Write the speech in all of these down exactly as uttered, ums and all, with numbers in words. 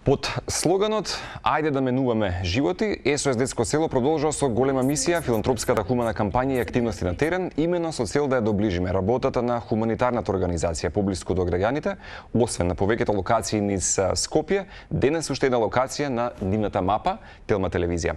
Под слоганот "Ајде да менуваме животи", ес о ес Детско село продолжува со голема мисија филантропската хумана кампања и активности на терен, имено со цел да ја доближиме работата на хуманитарната организација поблиску до граѓаните, освен на повеќето локации низ Скопје, денес уште една локација на нивната мапа, Телма телевизија.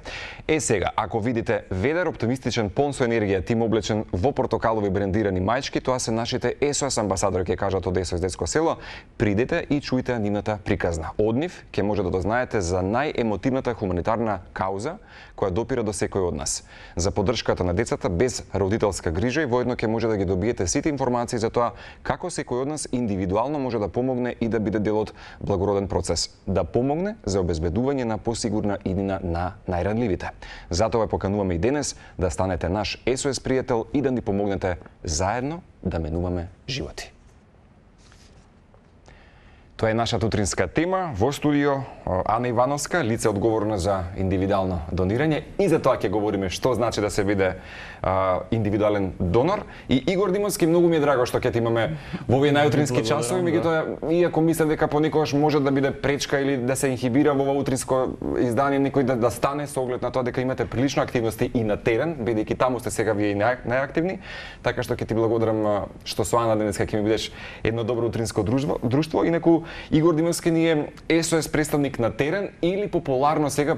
Е сега, ако видите ведар, оптимистичен, пон со енергија тим облечен во портокалови брендирани мајчки, тоа се нашите ес о ес амбасадори, ќе кажат од ес о ес Детско село. Придете и чујте нивната приказна. Од нив ќе може да дознаете за најемотивната хуманитарна кауза која допира до секој од нас. За поддршката на децата без родителска грижа и воедно ќе може да ги добиете сите информации за тоа како секој од нас индивидуално може да помогне и да биде дел од благороден процес, да помогне за обезбедување на посигурна иднина на најранливите. Затоа покануваме и денес да станете наш ес о ес пријател и да ни помогнете заедно да менуваме животи. Тоа е нашата утринска тема. Во студио Ана Ивановска, лице одговорно за индивидуално донирање, и за тоа ќе говориме што значи да се биде а, индивидуален донор. И Игор Димовски, многу ми е драго што ќе те имаме во овие најутрински часови, меѓутоа иако мислам дека понекогаш може да биде пречка или да се инхибира во ова утринско издание некој да, да стане со оглед на тоа дека имате прилично активности и на терен, бидејќи таму сте сега вие и нај, најактивни, така што ќе ти благодарам што со Ана денеска ќе ми бидеш едно добро утринско друштво, друштво. Инаку Игор Димовски ни е ес о ес представник на терен или популарно сега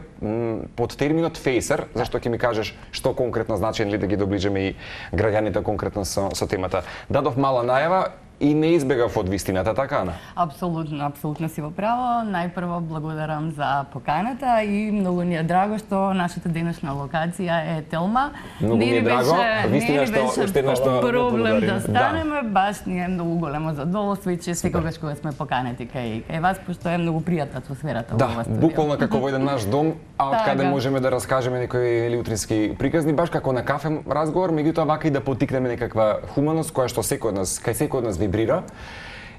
под терминот фейсер, зашто ќе ми кажеш што конкретно значи или да ги доближиме и граѓаните конкретно со, со темата. Дадов мала најава и не избегав од вистината, така Ана? Апсолутно, апсолутно си во право. Најпрво благодарам за поканата и многу ни е драго што нашата денешна локација е Телма. Многу ми е драго, вистина што уште една што проблем да станеме, да. Баш ни е многу големо задоволство и че секогаш кога сме поканети кај кај вас, пошто е многу пријатна атмосферата да, во ова студио. Да, буквално како во еден наш дом, а од каде можеме да раскажеме некои или утрински приказни, баш како на кафе разговор, меѓутоа вака и да поттикнеме некаква хуманост која што секој од нас, кај секој од нас вибрира.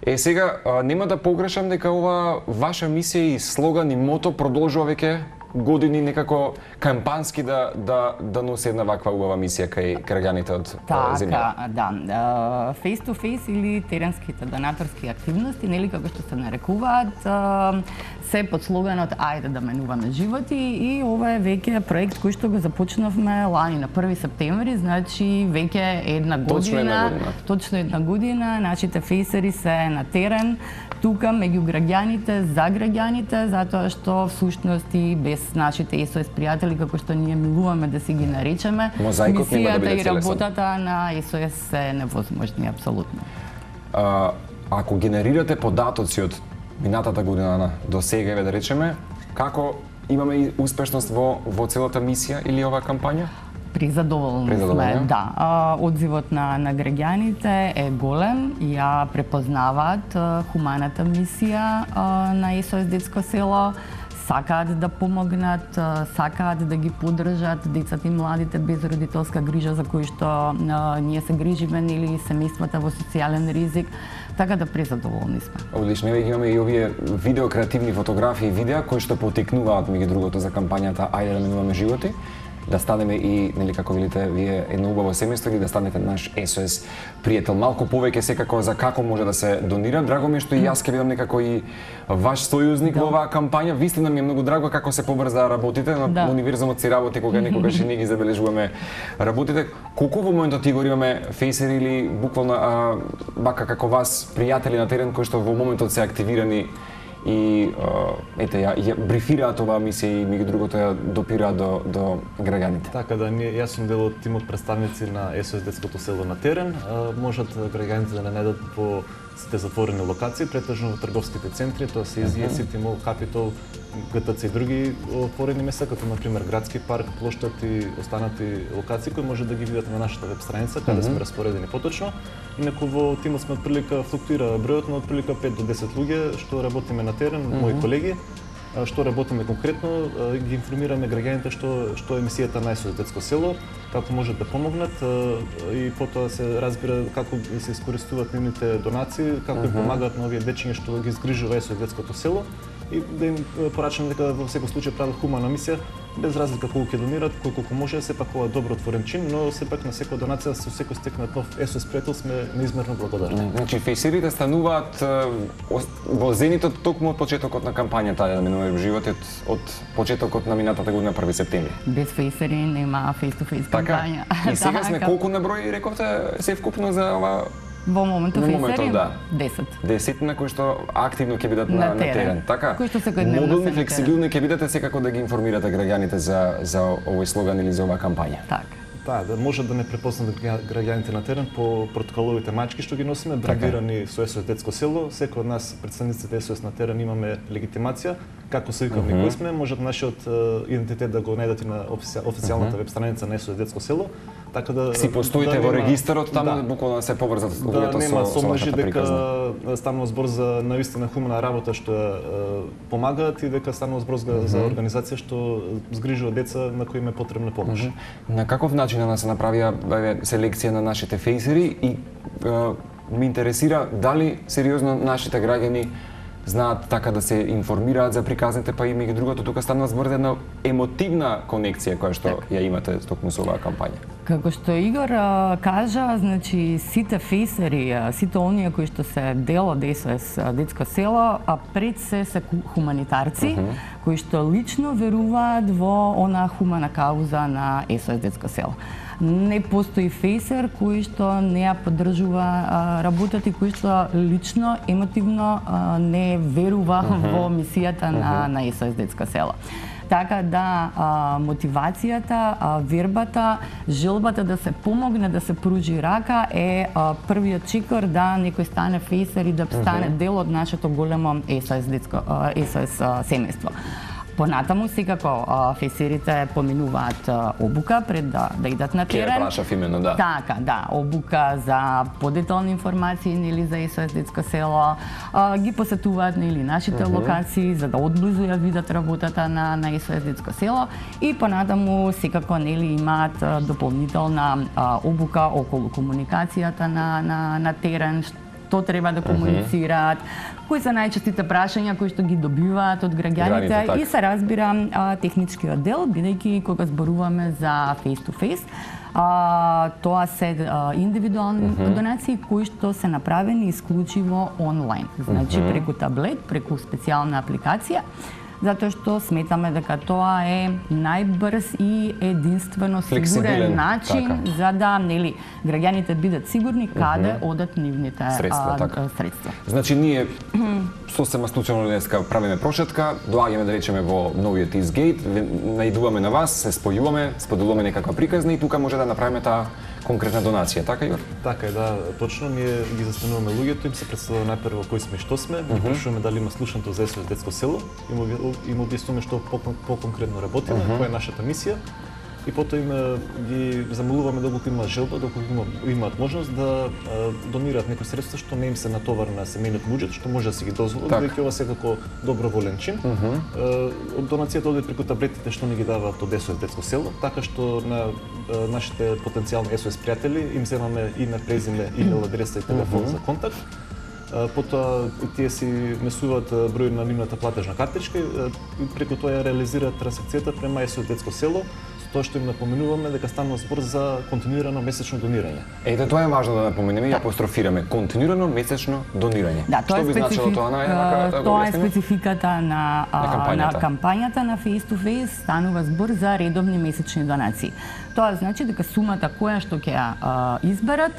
Е сега, нема да погрешам дека ова ваша мисија и слоган и мото продолжува веќе години некако кампански да да да носи една ваква убава мисија кај граѓаните од земјата. Така, да. Face to face или теренските донаторски активности, нели како што се нарекуваат, се под слоганот "Ајде да менуваме животи", и ова е веќе проект кој што го започнавме лани на први септември, значи веќе една година. Точно една година. Точно една година нашите фейсери се на терен, тука меѓу граѓаните, за граѓаните, затоа што всушност и без нашите ес о ес пријатели, како што ние милуваме да си ги наречеме, мозаикот нема да биде мисијата и целесен. работата на ес о ес се невозможни, апсолутно. А, ако генерирате податоци од минатата година до сега, да речеме, како имаме и успешност во во целата мисија или оваа кампања? Призадоволни сме, да. А, одзивот на, на граѓаните е голем, ја препознаваат а, хуманата мисија а, на ес о ес Детско село, сакаат да помогнат, сакаат да ги поддржат децата и младите без родителска грижа за кои што а, ние се грижиме, или семејствата во социјален ризик, така да презадоволни сме. Одлично, имаме и овие видео креативни фотографии и видеа кои што поттикнуваат меѓу другото за кампањата "Ајде да менуваме животи", да станеме и, нели како велите вие, едно убаво семејство или да станете наш ес о ес пријател. Малку повеќе секако за како може да се донира. Драго ми е што и јас ќе бидам некако и ваш сојузник да. Во оваа кампања. Вистина ми е многу драго како се побрза работите, на да. Универзумот си работи кога некогаш и ние ги забележуваме работите. Колку во моментот Игор имаме фейсери или буквално а, бака како вас пријатели на терен кои што во моментот се активирани и ете ја, ја брифираат оваа мисија и меѓу другото ја допираат до до граѓаните. Така да, ние јас сум дел од тимот представници на ес о ес Детското село на терен. Можат граѓаните да не најдат по сите затворени локации, претежно во трговските центри, тоа се Изија, Сити Мол, Капитол, ге те це и други отворени места, како на пример Градски парк, Плоштад и останати локации кои може да ги видите на нашата веб страница, каде сме распоредени поточно. Инаку во тимот сме отприлика флуктуира бројот на отприлика пет до десет луѓе што работиме на терен, mm -hmm. мои колеги, што работиме конкретно, ги информираме граѓаните што што е мисијата на ес о ес Детско село, како можат да помогнат и потоа се разбира како се искористуваат нивните донации, како mm -hmm. и помагаат на овие дечиња што ги згрижува ес о ес Детското село. и да им порачаме дека во секој случај прават хумана мисија, без разлика колку ќе донират, колку може, сепак ова е добро отворен чин, но сепак на секоја донација со секој стекнат нов ес о ес пријател сме неизмерно благодарни. Значи фейсерите стануваат во зенитот токму од почетокот на кампањата да менува животот од почетокот на минатата година први септември. Без фейсери нема фейс-ту-фейс кампања. И сега сме колку на број рековте се вкупно за ова? Во моментот фейсери да. десет. десет на кои што активно ќе бидат на, на, на терен. Така? Кои што секојдневно мобилни, флексибилни ќе бидете секако да ги информирате граѓаните за за овој слоган или за оваа кампања. Така. Да, да може да не препознат граѓаните на терен по протоколовите мачки што ги носиме, брандирани со ес о ес детско село. Секој од нас претставниците ес о ес на терен имаме легитимација, како се викаме mm -hmm. кој сме, можат нашиот uh, идентитет да го најдете на официјалната mm -hmm. веб страница на ес о ес детско село. Така да си постоите да во регистарот таму, да, буквално се поврзат луѓето да, со со вашата дека приказна. Станува збор за навистина хумана работа што uh, помагаат и дека станува збор за, mm -hmm. за организација што згрижува деца на кои им е потребна помош. Mm -hmm. На каков начин да се направија селекција на нашите фейсери и uh, ме интересира дали сериозно нашите граѓани знаат така да се информираат за приказните, па има и другото, тука станува збор за една емотивна конекција која што так. ја имате токму со оваа кампања. Како што Игор а, кажа, значи сите фейсери, сите оние кои што се дел од ес о ес детско село, а пред се се хуманитарци uh -huh. кои што лично веруваат во она хумана кауза на ес о ес детско село. Не постои фейсер кој што не ја поддржува а, работата и кој што лично, емотивно а, не верува uh -huh. во мисијата uh -huh. на, на ес о ес детско село. Така да а, мотивацијата, а, вербата, желбата да се помогне, да се пружи рака е а, првиот чекор да некој стане фейсер и да стане uh -huh. дел од нашето големо ес о ес детско а, ес о ес семејство. Понатаму секако фейсерите поминуваат обука пред да, да идат на терен. Ке прашав именно, да. Така, да, обука за подетални информации нели за ес о ес детско село, а, ги посетуваат нели нашите uh -huh. локации за да одблизу ја видат работата на на ес о ес детско село и понатаму секако нели имаат дополнителна а, обука околу комуникацијата на на на терен, што треба да комуницираат, кои се најчестите прашања кои што ги добиваат од граѓаните Граните, и се разбира а, техничкиот дел, бидејќи кога зборуваме за face-to-face, а, тоа се а, индивидуални uh -huh. донации кои што се направени исклучиво онлайн, значи uh -huh. преку таблет, преку специјална апликација, затоа што сметаме дека тоа е најбрз и единствено сигурен начин така. За да нели граѓаните бидат сигурни каде uh -huh. одат нивните средства, а, така. средства. Значи ние сосема случајно денеска правиме прошетка, доаѓаме да речеме во новиот Eastgate, наидуваме на вас, се спојуваме, споделуваме некаква приказна и тука може да направиме таа конкретна донација, така Јор? Така е, да, точно. Ние ги застануваме луѓето, им се представува најпрво кои сме и што сме, ги прашуваме дали има слушнато за ес о ес детско село, им објаснуваме што по-конкретно работиме, која е нашата мисија. И потоа им ги замолуваме доколку има желба, доколку има, имаат можност да а, донираат некои средства што не им се натовар на семејниот буџет, што може да се ги дозволат, бидејќи ова секако доброволен чин. Uh -huh. а, донацијата оди преку таблетите што ни ги даваат од ес о ес детско село, така што на а, нашите потенцијални ес о ес пријатели им земаме име, презиме, имейл адреса и телефон uh -huh. за контакт. Потоа тие си внесуваат број на нивната платежна картичка и преку тоа ја реализираат трансакцијата према ес о ес детско село, тоа што им напоменуваме дека станува збор за континуирано месечно донирање. Ете, тоа е важно да напоменеме и апострофираме. Континуирано месечно донирање. Да, тоа што е би значило тоа на една тоа е спецификата на, на кампањата. на кампањата на face-to-face, станува збор за редовни месечни донации. Тоа значи дека сумата која што ќе ја изберат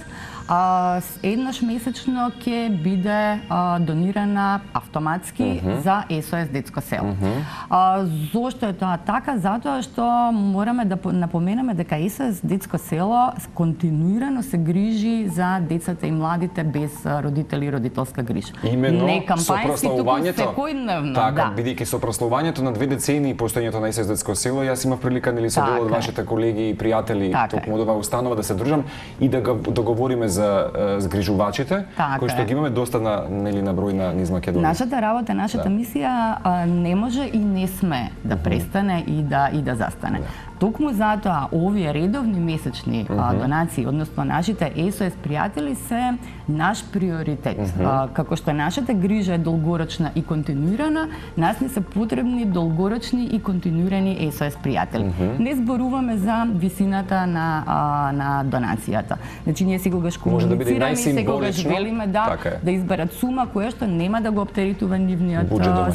а, еднаш месечно ќе биде а, донирана автоматски uh -huh. за ес о ес детско село. Uh -huh. а, зошто е тоа така? Затоа што мораме да напоменеме дека ес о ес детско село континуирано се грижи за децата и младите без родители и родителска грижа. Именно не кампањски, туку секојдневно. Така, да. бидејќи со прославувањето на две децении постоењето на ес о ес детско село, јас имав прилика нели со дел од вашите колеги и пријатели токму од оваа установа да се дружам и да го договориме за згрижувачите, така кои што ги имаме доста на нели на број на низ Македонија. Нашата работа, нашата да. мисија а, не може и не сме да престане и да и да застане. Да. Токму затоа овие редовни месечни uh -huh. донации, односно нашите ес о ес пријатели се наш приоритет. Uh -huh. Како што нашата грижа е долгорочна и континуирана, нас не се потребни долгорочни и континуирани ес о ес пријатели. Uh -huh. Не зборуваме за висината на а, на донацијата. Значи ние секогаш комуницираме и секогаш велиме да така да изберат сума која што нема да го оптеритува нивниот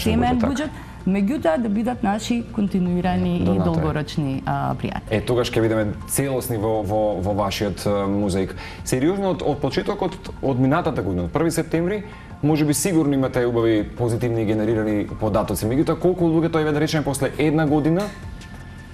семеен буџет, меѓутоа да бидат наши континуирани и долгорочни а, пријатели. Е, тогаш ќе видиме целосни во, во, во вашиот музеик. Сериозно, од, од почетокот од минатата година, од први септември, може би сигурно имате убави позитивни генерирани податоци. Меѓутоа, колку луѓето, еве да речеме, после една година,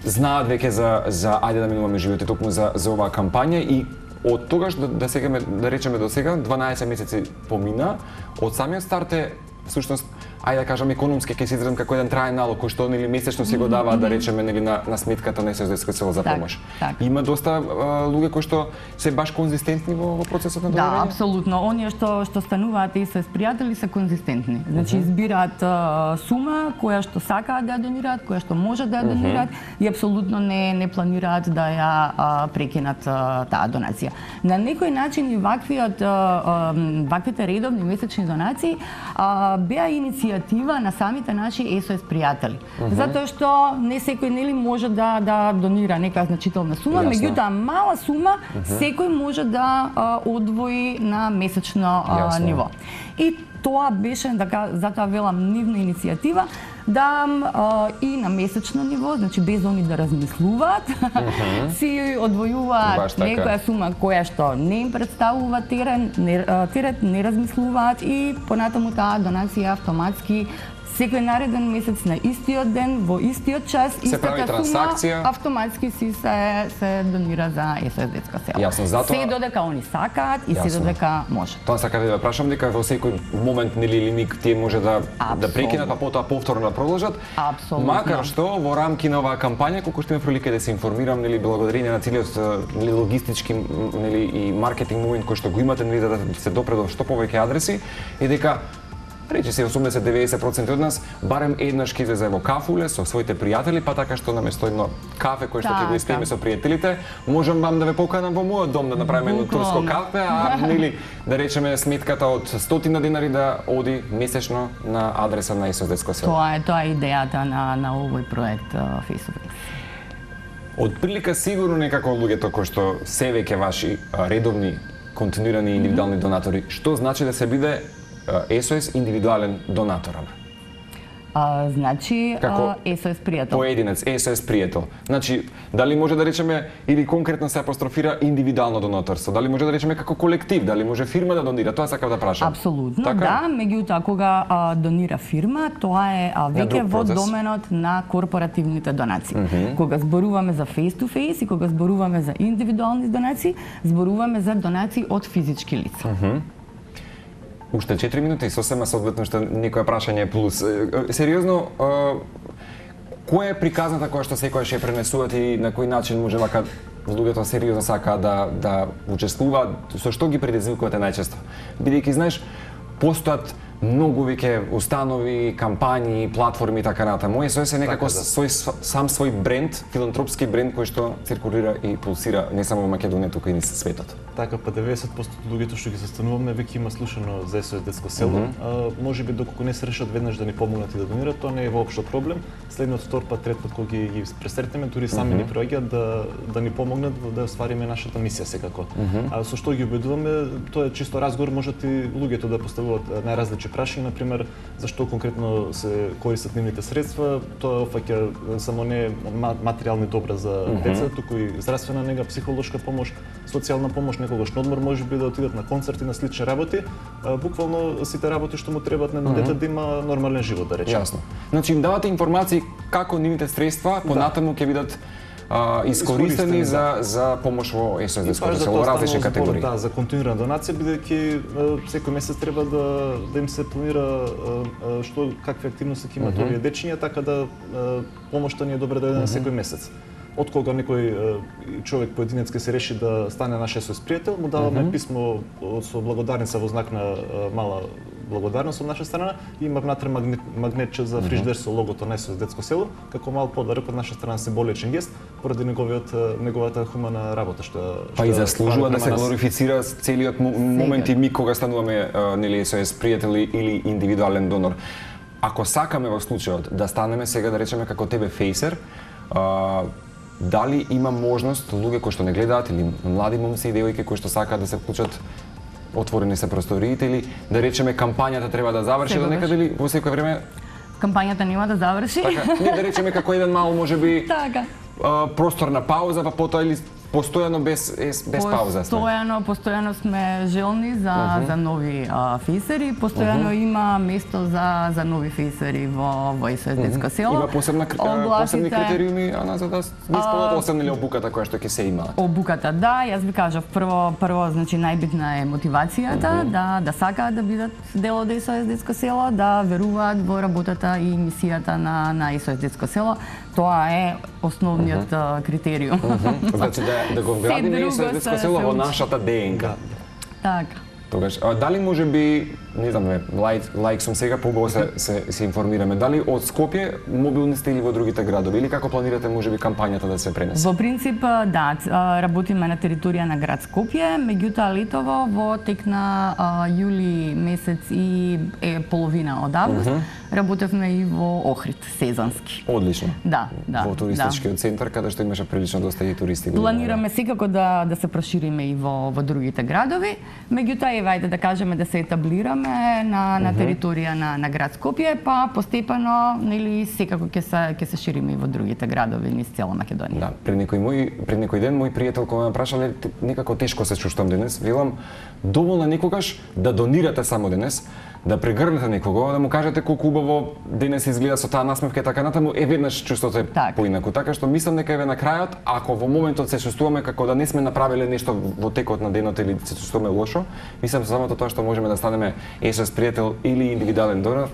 знаат веќе за, за ајде да минуваме животи, токму за, за оваа кампања и од тогаш, да, да, сегаме, да речеме до сега, дванаесет месеци помина, од самиот старт е, всушност, ајде да кажам економски, ќе се изразам како еден траен налог кој што нели месечно си го даваат, да речеме, нели на на сметката на ес о ес детско село за помош. Так, так. Има доста а, луѓе кои што се баш конзистентни во, во процесот на донирање? Да, апсолутно. Оние што што стануваат ес о ес пријатели се конзистентни. Значи uh -huh. избираат а, сума која што сакаат да ја донираат, која што можат да ја донираат uh -huh. и апсолутно не не планираат да ја а, прекинат а, таа донација. На некој начин и ваквиот а, а, ваквите редовни месечни донации а, беа иницијатива на самите наши ес о ес пријатели. Uh -huh. Затоа што не секој нели може да да донира нека значителна сума, меѓутоа мала сума uh -huh. секој може да а, одвои на месечно а, ниво. И тоа беше, така, затоа велам, нивна иницијатива да а, и на месечно ниво, значи без они да размислуваат, uh -huh. си одвојуваат така некоја сума која што не им представува терен, не, терет, не размислуваат и понатаму таа донација автоматски секој нареден месец на истиот ден, во истиот час, истата сума автоматски си се се донира за ес о ес детско село. Јасно, затоа се додека они сакаат и се додека може. Тоа сака да ве прашам дека во секој момент нели или миг тие може да Absolut. да прекинат, па потоа повторно да продолжат. Апсолутно. Макар што во рамки на оваа кампања, колку што имам прилика да се информирам, нели благодарение на целиот нели логистички нели и маркетинг момент кој што го имате, нели да се допре до што повеќе адреси, е дека речи се осумдесет до деветдесет проценти од нас барем еднаш ќе излезе во кафуле со своите пријатели, па така што наместо едно кафе кој што ќе го испиеме со пријателите, можам вам да ве поканам во мојот дом да направиме едно турско кафе, а нели да речеме сметката од стотина денари да оди месечно на адреса на ес о ес детско село. Тоа е тоа е идејата на на овој проект Face to Face. Од прилика сигурно некако луѓето кои што се веќе ваши редовни, континуирани индивидуални mm -hmm. донатори, што значи да се биде ес о ес индивидуален донатор? А, значи Како ес о ес пријател. Поединец, ес о ес пријател. Значи, дали може да речеме или конкретно се апострофира индивидуално донаторство? Дали може да речеме како колектив? Дали може фирма да донира? Тоа сакав да прашам. Апсолутно, така? Да. Меѓутоа, кога а, донира фирма, тоа е а, веќе во доменот на корпоративните донации. Mm -hmm. Кога зборуваме за face to face и кога зборуваме за индивидуални донации, зборуваме за донации од физички лица. Mm -hmm. Уште четири минути и сосема соодветно што некоја прашање плюс. Сериозно, која е приказната која што секојаш ја пренесуваат и на кој начин може вака луѓето сериозно сака да да учествуваат, со што ги предизвикувате најчесто? Бидејќи знаеш, постојат многу веќе установи, кампањи, платформи и така натаму. ес о ес е некако така, да. свој, сам свој бренд, филантропски бренд кој што циркулира и пулсира не само во Македонија, туку и низ светот. Така, па деветдесет проценти од луѓето што ги застануваме веќе има слушано за ес о ес детско село. Mm -hmm. а, може би доколку не се решат веднаш да ни помогнат и да донират, тоа не е воопшто проблем. Следниот втор пат, трет пат кога ги, ги пресретнеме, дури сами mm -hmm. ни проаѓаат да да ни помогнат да оствариме нашата мисија секако. Mm -hmm. А со што ги убедуваме, тоа е чисто разговор, можат и луѓето да поставуваат најразлични прашања, на пример, зашто конкретно се користат нивните средства, тоа опфаќа само не материјални добра за mm -hmm. деца, туку и здравствена нега, психолошка помош, социјална помош, некогаш на одмор, може би да отидат на концерти, на слични работи, буквално сите работи што му требаат на едно mm -hmm. дете да има нормален живот, да речеме. Јасно. Значи им давате информации како нивните средства понатаму ќе бидат а, искористени за за помош во ес о ес детско село во различни категории. Да, за континуирана донација, бидејќи секој месец треба да да им се планира што какви активности ќе имат mm -hmm. овие дечиња, така да помошта ни е добра да иде на секој месец. од кога некој човек поединец ке се реши да стане наш ес о ес пријател, му даваме mm -hmm. писмо со благодарница во знак на мала благодарност од наша страна и има внатре магнет, магнетче за фриждер со логото на ес о ес Детско село, како мал подарок од наша страна, символичен гест, поради неговиот неговата хумана работа што па и заслужува да се глорифицира целиот момент и миг кога стануваме нели ес о ес пријатели или индивидуален донор. Ако сакаме во случајот да станеме сега да речеме како тебе фейсер, а, дали има можност луѓе кои што не гледаат или млади момци и девојки кои што сакаат да се вклучат, отворени се просториите или да речеме кампањата треба да заврши до некаде или во секој време кампањата нема да заврши? Така, не да речеме како еден мал можеби така. А, простор на пауза, па потоа или постојано без без пауза сме. Постојано, постојано сме желни за uh -huh. за нови а, фейсери, постојано uh -huh. има место за за нови фейсери во во ес о ес Детско село. Има посебна Огласите... посебни критериуми, ана за да не исполнат освен или обуката која што ќе се има. Обуката, да, јас би кажав прво прво значи најбитна е мотивацијата, uh -huh. да да сакаат да бидат дел од ес о ес Детско село, да веруваат во работата и мисијата на на ес о ес Детско село. Тоа е основниот uh -huh. критериум. Uh -huh. Значи да, да го вградиме ес о ес Детско село во нашата ДНК. Така. Тогаш, а дали може би, не знам, лаик, лаик сум сега, побаво се, се, се информираме, дали од Скопје мобилни сте или во другите градови, или како планирате може би кампањата да се пренесе? Во принцип, да, работиме на територија на град Скопје, меѓутоа летово во тек на а, јули месец и е половина од август, uh -huh. работевме и во Охрид, сезонски. Одлично. Да, да. Во туристичкиот да. центар, каде што имаше прилично доста и туристи. Планираме секако да да се прошириме и во во другите градови, меѓутоа еве ајде да кажеме да се етаблираме на на територија на на град Скопје, па постепено нели секако ќе се ќе се шириме и во другите градови низ цела Македонија. Да, пред некој мој пред некој ден мој пријател кога ме прашале некако тешко се чувствам денес, велам доволно некогаш да донирате само денес, да прегрнете некого, да му кажете колку убаво денес изгледа со таа насмевка и така натаму, е веднаш чувството е так. Поинаку. Така што мислам дека еве на крајот, ако во моментот се чувствуваме како да не сме направиле нешто во текот на денот или се чувствуваме лошо, мислам самото тоа што можеме да станеме ес о ес пријател или индивидуален донор,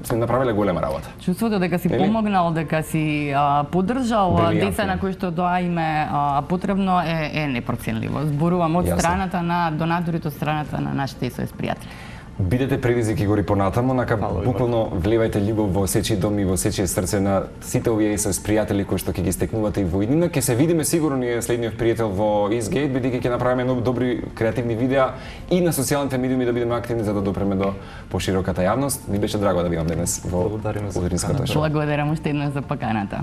сме направиле голема работа. Чувството дека си Дели? помогнал, дека си а, поддржал деца на кои што тоа име а, потребно е, е непроценливо. Зборувам од страната на донаторите, од страната на нашите ес о ес пријатели. Бидете предизвикигори понатамо, нака буквално вливајте љубов во сечи дом и во сечие срце на сите овие ес о ес пријатели кои што ќе ги стекнувате и во иднина. Ќе се видиме сигурно ние следниот пријател во Eastgate, бидејќи ќе направиме нови добри креативни видеа и на социјалните медиуми да бидеме активни за да допреме до пошироката јавност. Ми беше драго да ви имам денес во Удринската шоу. Благодарам уште еднаш за поканата.